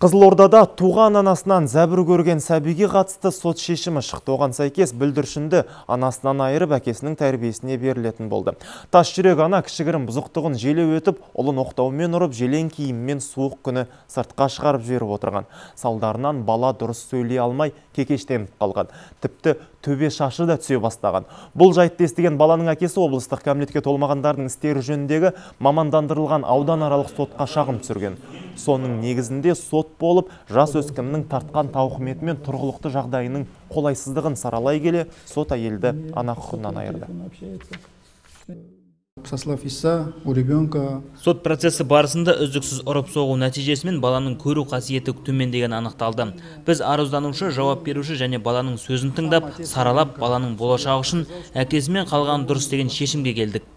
Қызылордада туған анасынан зәбір көрген сәбиге қатысты сот шешімі шықты. Оған сәйкес бүлдіршінді анасынан айырып әкесінің тәрбиесіне берілетін болды. Тас жүрек ана кішігірім бұзықтығын желеу өтіп, ұлын оқтаумен ұрып, желең киіммен суық күні сыртқа шығарып жіберіп отырған. Салдарынан бала дұрыс сөйлей алмай кекештеніп қалған. Тіпті төбе шашы да түсе бастаған. Бұл жайтты естіген баланың әкесі облыстық кәмелетке толмағандардың істері жөніндегі мамандандырылған ауданаралық сотқа шағым түсірген. Соның негізінде сот болып, жас өскіннің тартқан тауқыметі мен тұрғылықты жағдайының қолайсыздығын саралай келе, сот әйелді ана құқығынан айырды. Сослав истца у ребенка. Сот процесі барысында үздіксіз ұрып соғу нәтижесімен баланың көру қасиеті төмендеген анықталды. Біз арызданушы, жауап беруші және баланың сөзін тыңдап, саралап, баланың болашағы үшін әкесімен қалған дұрыс деген шешімге келдік.